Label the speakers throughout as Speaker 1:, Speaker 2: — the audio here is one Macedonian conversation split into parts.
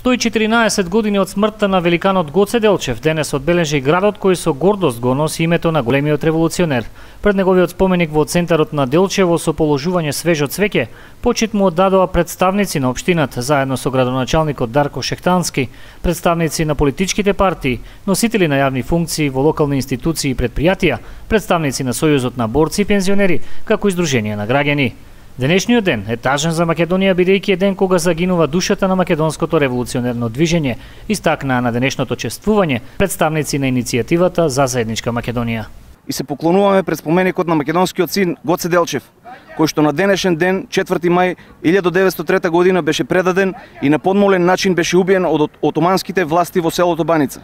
Speaker 1: 114 години од смртта на великанот Гоце Делчев денес одбележи градот кој со гордост го носи името на големиот револуционер. Пред неговиот споменик во центарот на Делчево со положување свежо цвеќе, почит му оддадоа представници на општината заедно со градоначалникот Дарко Шехтански, представници на политичките партии, носители на јавни функции во локални институции и предпријатија, представници на Сојузот на борци и пензионери, како и Сдружение на граѓани. Денешниот ден е тажен за Македонија бидејќи е ден кога загинува душата на македонското револуционерно движење, истакнаа на денешното чествување представници на иницијативата за заедничка Македонија.
Speaker 2: И се поклонуваме пред споменикот на македонскиот син Гоце Делчев, кој што на денешен ден, 4 мај 1903 година беше предаден и на подмолен начин беше убиен од отоманските власти во селото Баница.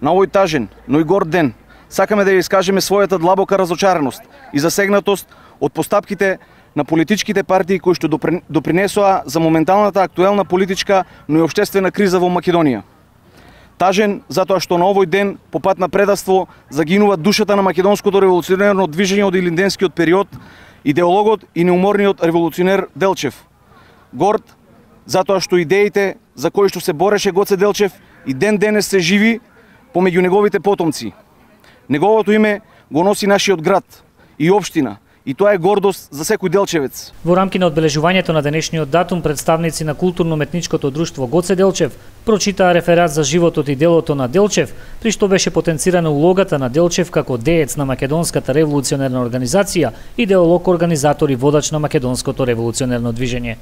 Speaker 2: На овој тажен, но и горд ден, сакаме да ја искажеме својата длабока разочараност и засегнатост од постапките на политичките партии кои што допринесоа за моменталната актуелна политичка, но и општествена криза во Македонија. Тажен затоа што на овој ден по пат на предавство загинува душата на македонското револуционерно движење од илинденскиот период, идеологот и неуморниот револуционер Делчев. Горд затоа што идеите за кои што се бореше Гоце Делчев и ден денес се живи помеѓу неговите потомци. Неговото име го носи нашиот град и општина, и тоа е гордост за секој делчевец.
Speaker 1: Во рамки на одбележувањето на денешниот датум, представници на културно-метничкото друштво Гоце Делчев прочитаа реферат за животот и делото на Делчев, при што беше потенцирана улогата на Делчев како деец на македонската револуционерна организација, идеолог, организатор и водач на македонското револуционерно движење.